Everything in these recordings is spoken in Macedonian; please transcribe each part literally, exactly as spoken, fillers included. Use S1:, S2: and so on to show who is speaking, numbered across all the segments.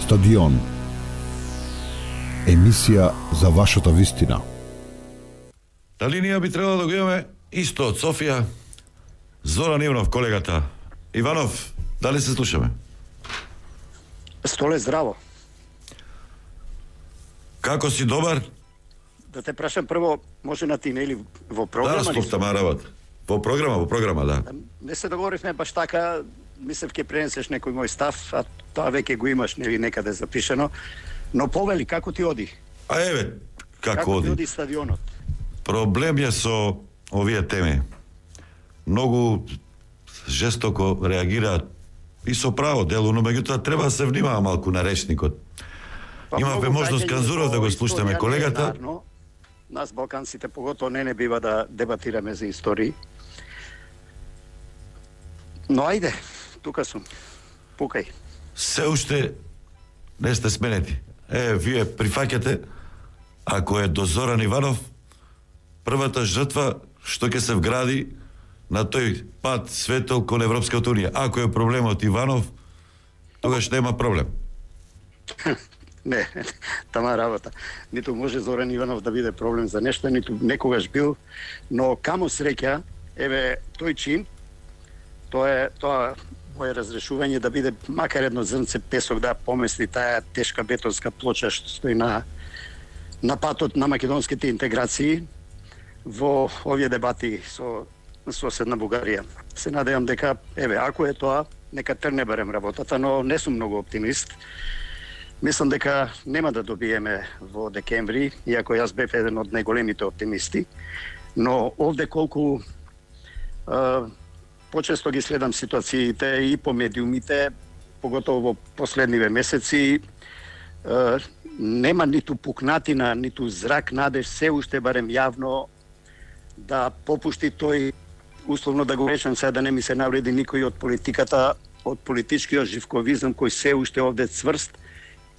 S1: Стадион. Емисија за вашата вистина.
S2: Дали ние би требало да го имаме исто од Софија? Зоран Иванов, колегата. Иванов, дали се слушаме?
S3: Столе, здраво.
S2: Како си, добар?
S3: Да те прашам прво, може на ти не или во програма?
S2: Да, стофтама работа. Во програма, во програма, да.
S3: Не се договоривме баш така, мислев ке пренесеш некој мој став, а тоа веќе го имаш нели некаде запишено. Но повели, како ти оди?
S2: А еве, како,
S3: како
S2: оди?
S3: Како ти оди стадионот?
S2: Проблем е со овие теми. Многу жестоко реагираат и со право дело, но меѓутоа треба да се внимава малку на речникот.
S3: Па,
S2: имавме можност Канзуров да го слушаме колегата.
S3: Нарно, нас балканците поготово не не бива да дебатираме за истории. Но ајде, тука сум. Пукај.
S2: Се уште не сте сменети. Е, вие прифаќате, ако е до Зоран Иванов, првата жртва што ќе се вгради на тој пат светол кон Европската унија. Ако е проблемот Иванов, тогаш нема проблем.
S3: Не, тама работа. Ниту може Зоран Иванов да биде проблем за нешто, ниту некогаш бил, но камо среќа, еве, тој чин, тоа е тоа моје разрешување да биде макар едно зрнце песок да помести таа тешка бетонска плоча што стои на на патот на македонските интеграции во овие дебати со соседна Бугарија. Се надевам дека, еве, ако е тоа, нека трне барем работата, но не сум многу оптимист. Мислам дека нема да добиеме во декември, иако јас бев еден од најголемите оптимисти, но овде колку а, почесто ги следам ситуациите и по медиумите, поготово во последниве месеци, е, нема ниту пукнатина, ниту зрак надеж, се уште барем јавно да попушти тој, условно да го речем сега да не ми се навреди никој од политиката, од политичкиот живковизам кој се уште овде цврст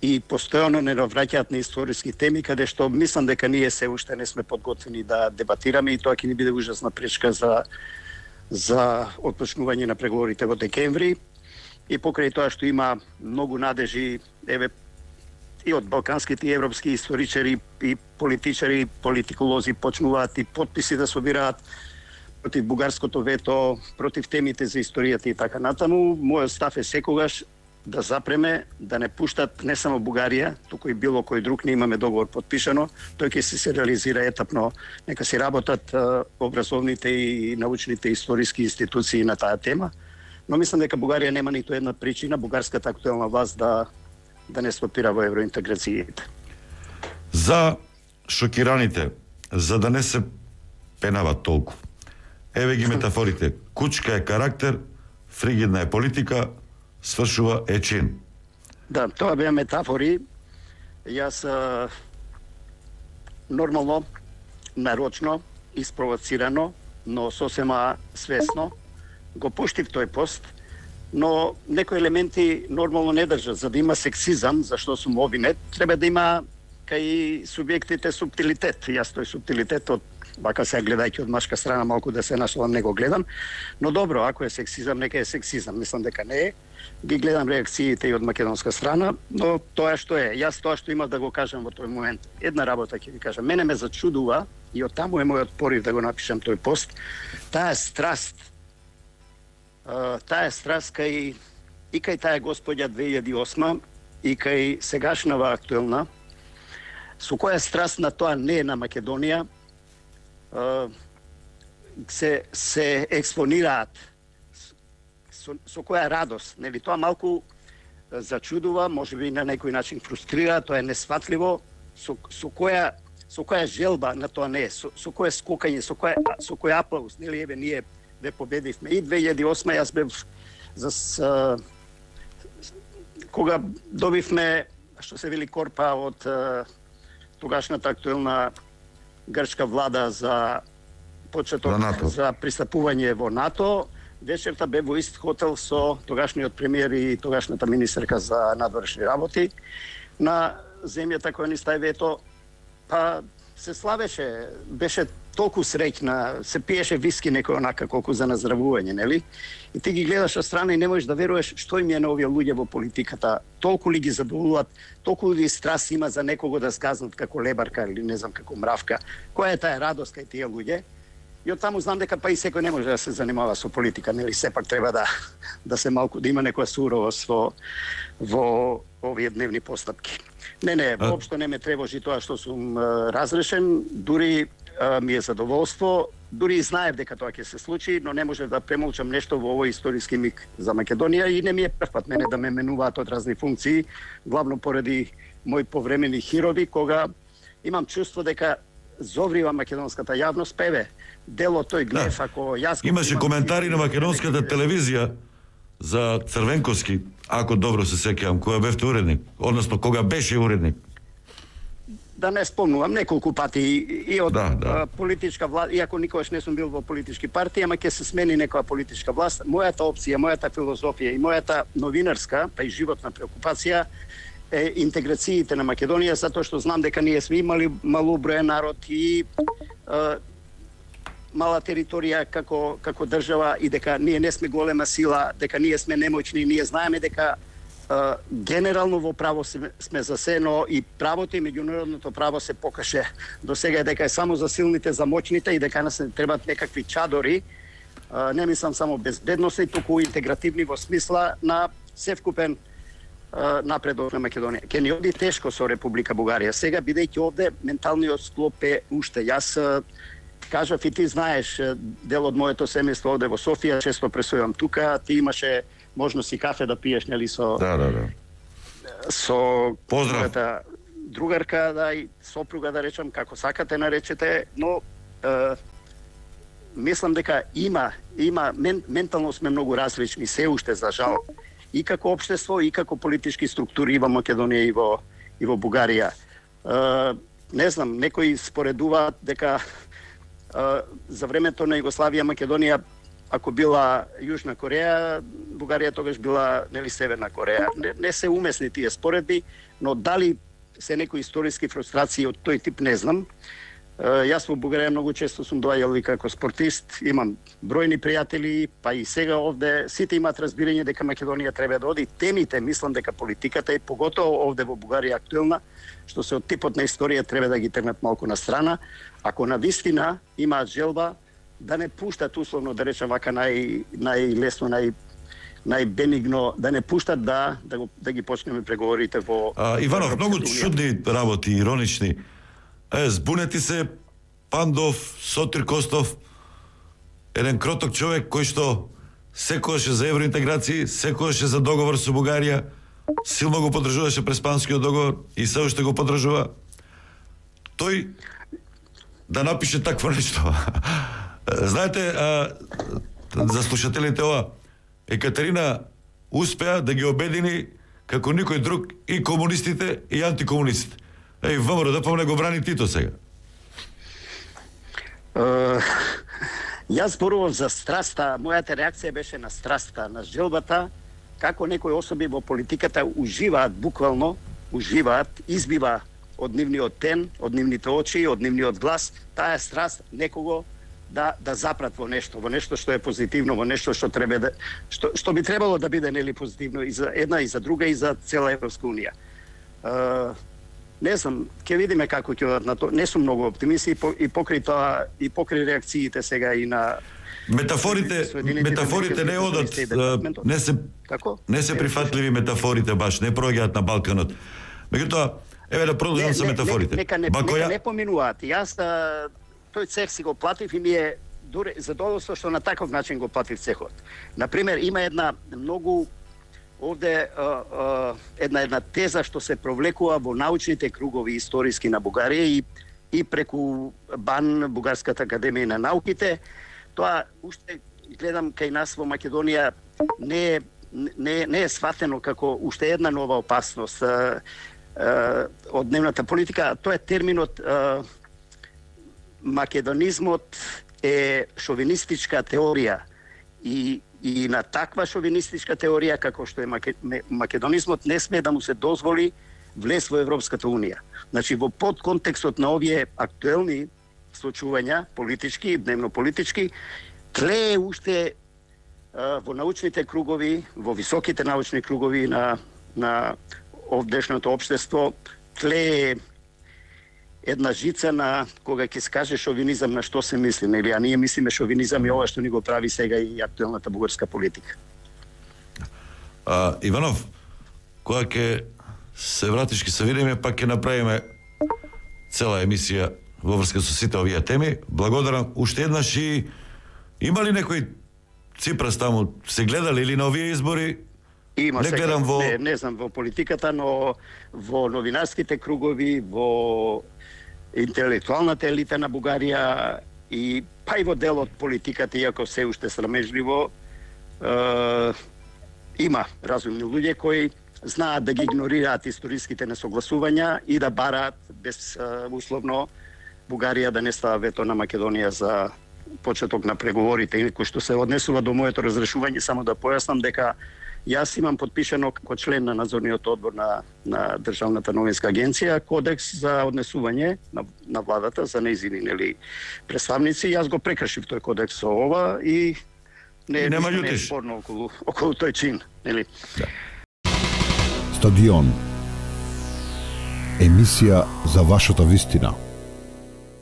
S3: и постојано не навраќаат на историски теми, каде што мислам дека ние се уште не сме подготвени да дебатираме и тоа ќе ни биде ужасна пречка за за отпочнување на преговорите во декември. И покрај тоа што има многу надежи, еве, и од балканските и европски историчари и политичари, политиколози почнуваат и подписи да собираат против бугарското вето, против темите за историјата и така натаму. Мојот став е секогаш да запреме, да не пуштат не само Бугарија, туку и било кој друг, не имаме договор подпишано, тој ќе се реализира етапно, нека си работат а, образовните и научните историски институции на таа тема, но мислам дека Бугарија нема ниту една причина бугарската актуелна власт да да не стопира во евроинтеграциите.
S2: За шокираните, за да не се пенава толку. Еве ги метафорите. Кучка е карактер, фригидна е политика, свршува е чин.
S3: Да, тоа беа метафори. Јас а, нормално, нарочно, испровоцирано, но сосема свесно го пуштив тој пост, но некои елементи нормално не држат. За да има сексизам, зашто сум обвинет, треба да има кај субјектите субтилитет. Јас тој субтилитет од вака се гледајќи од машка страна малку да се нашалам, не го гледам, но добро, ако е сексизам, нека е сексизам. Мислам дека не е. Ги гледам реакциите и од македонска страна, но тоа што е. Јас тоа што имав да го кажам во тој момент. Една работа ќе ви кажам. Мене ме зачудува и од таму е мојот порив да го напишам тој пост. Таа страст, таа страст кај и кај таа господја две илјади и осма и кај сегашнава актуелна, со која страст на тоа не е на Македонија, се се експонираат, со, со која радост, нели тоа малку зачудува, можеби на некој начин фрустрира, тоа е несфатливо, со, со која со која желба на тоа не е, со, со која скокање, со која со кој аплауз, нели еве ние ве победивме и две илјади и осма јас бев за с, кога добивме што се вели корпа од тогашната актуелна грчка влада за почеток за пристапување во НАТО, вечерта бе во ист хотел со тогашниот премиер и тогашната министерка за надворешни работи на земјата која ни стави вето, па се славеше, беше толку среќна, се пиеше виски некој онака колку за наздравување, нели? И ти ги гледаш од страна и не можеш да веруваш што им е на овие луѓе во политиката, толку ли ги задоволуват, толку ли страст има за некого да сказнат како лебарка или не знам како мравка. Која е таа радост кај тие луѓе? И од таму знам дека па и секој не може да се занимава со политика, нели? Сепак треба да да се малку да има некоја суровост во во овие дневни постапки. Не, не, воопшто не ме тревожи тоа што сум а, разрешен, дури а, ми е задоволство, дури и знаев дека тоа ќе се случи, но не можев да премолчам нешто во овој историски миг за Македонија и не ми е прв пат мене да ме менуваат од разни функции, главно поради мои повремени хирови, кога имам чувство дека зоврива македонската јавност, певе, дело тој глев, да. Ако јас...
S2: Имаше коментари на македонската телевизија за Црвенковски, ако добро се сеќавам, кога бевте уредник, односно кога беше уредник.
S3: Да не спомнувам неколку пати и од
S2: да, да.
S3: политичка власт, иако никогаш не сум бил во политички партии, ама ќе се смени некоја политичка власт. Мојата опција, мојата филозофија и мојата новинарска, па и животна преокупација е интеграциите на Македонија, затоа што знам дека ние сме имали малоброен народ и е, мала територија како како држава и дека ние не сме голема сила, дека ние сме немоćни, ние знаеме дека Uh, генерално во право сме, сме за се, но и правото и меѓународното право се покаже до сега дека е само за силните, за моćните и дека нас не требат некакви чадори. Uh, не мислам само безбедносни, туку интегративни во смисла на севкупен uh, напредок на Македонија. Ке ни оди тешко со Република Бугарија. Сега, бидејќи овде, менталниот склоп е уште. Јас uh, кажав и ти знаеш, дел од моето семејство овде во Софија, често пресувам тука, ти имаше можност и кафе да пиеш, нели, со...
S2: Да, да, да.
S3: Со...
S2: Поздрав.
S3: Другарка, да, и сопруга, да речам, како сакате наречете, но е, мислам дека има, има, мен, ментално сме многу различни, се уште, за жал, и како општество, и како политички структури и во Македонија, и во, и во Бугарија. Е, не знам, некои споредуваат дека е, за времето на Југославија, Македонија, ако била Јужна Кореја, Бугарија тогаш била, нели, Северна Кореја. Не, не се умесни тие споредби, но дали се некои историски фрустрации од тој тип, не знам. Е, јас во Бугарија многу често сум доаѓал и како спортист, имам бројни пријатели, па и сега овде сите имаат разбирање дека Македонија треба да оди. Темите, мислам дека политиката е поготово овде во Бугарија актуелна, што се од типот на историја треба да ги тргнат малку на страна. Ако навистина имаат желба да не пуштат, условно да речем вака нај најлесно, нај најбенигно, да не пуштат да да, го, да ги почнеме преговорите во...
S2: А, Иванов, многу чудни работи, иронични. Е, збунети се Пандов, Сотир Костов, еден кроток човек кој што секогаш е за евроинтеграција, секогаш е за договор со Бугарија, силно го поддржуваше Преспанскиот договор и се уште го поддржува. Тој да напише такво нешто. Знаете, а, за слушателите ова, Екатерина успеа да ги обедини како никој друг и комунистите и антикомунистите. Еј, ВМРО да помне го брани Тито сега.
S3: Uh, јас зборував за страста, мојата реакција беше на страста, на желбата, како некои особи во политиката уживаат, буквално уживаат, избива од нивниот тен, од нивните очи, од нивниот глас, таа страст некого да да запрат во нешто, во нешто што е позитивно, во нешто што треба да што што би требало да биде, нели, позитивно и за една и за друга и за цела Европска унија. Uh, не знам, ќе видиме како ќе одат на тоа. Не сум многу оптимист и, по, и покрај тоа и покрај реакциите сега и на
S2: метафорите, метафорите не одат, не се
S3: како?
S2: Не се прифатливи метафорите баш, не проаѓаат на Балканот. Меѓутоа, еве да продолжам со метафорите.
S3: Нека не, Бакоја... нека не поминуваат. Јас да, тој цех си го платив и ми е дуре задоволство што на таков начин го платив цехот. Например, има една многу овде а, а, една една теза што се провлекува во научните кругови историски на Бугарија и и преку БАН, Бугарската академија на науките. Тоа уште гледам кај нас во Македонија не е не не е сватено како уште една нова опасност а, а, од дневната политика. Тоа е терминот а, македонизмот е шовинистичка теорија и и на таква шовинистичка теорија како што е македонизмот не смее да му се дозволи влез во Европската унија. Значи во подконтекстот на овие актуелни случувања политички, дневно политички, тлее уште во научните кругови, во високите научни кругови на на овдешното општество, тлее една жица на кога ќе скаже шовинизам на што се мисли, нели, а ние мислиме шовинизам и ова што ни го прави сега и актуелната бугарска политика.
S2: А, Иванов, кога ќе се вратиш, ќе се видиме, пак ќе направиме цела емисија во врска со сите овие теми. Благодарам уште еднаш. И има ли некој ципрас таму, се гледали или на овие избори?
S3: Има,
S2: не гледам
S3: сега,
S2: во...
S3: не, не знам во политиката, но во новинарските кругови, во интелектуалната елита на Бугарија и па и во дел од политиката, иако се уште срамежливо, е, има разумни луѓе кои знаат да ги игнорираат историските несогласувања и да бараат безусловно Бугарија да не става вето на Македонија за почеток на преговорите. И кој што се однесува до моето разрешување, само да појаснам дека јас имам подпишано како член на надзорниот одбор на, на Државната новинска агенција кодекс за однесување на, на владата за нејзини, нели, представници. Јас го прекршив тој кодекс со ова и не,
S2: нема
S3: не е спорно околу, околу тој чин, нели?
S1: Стадион. Емисија за вашата вистина.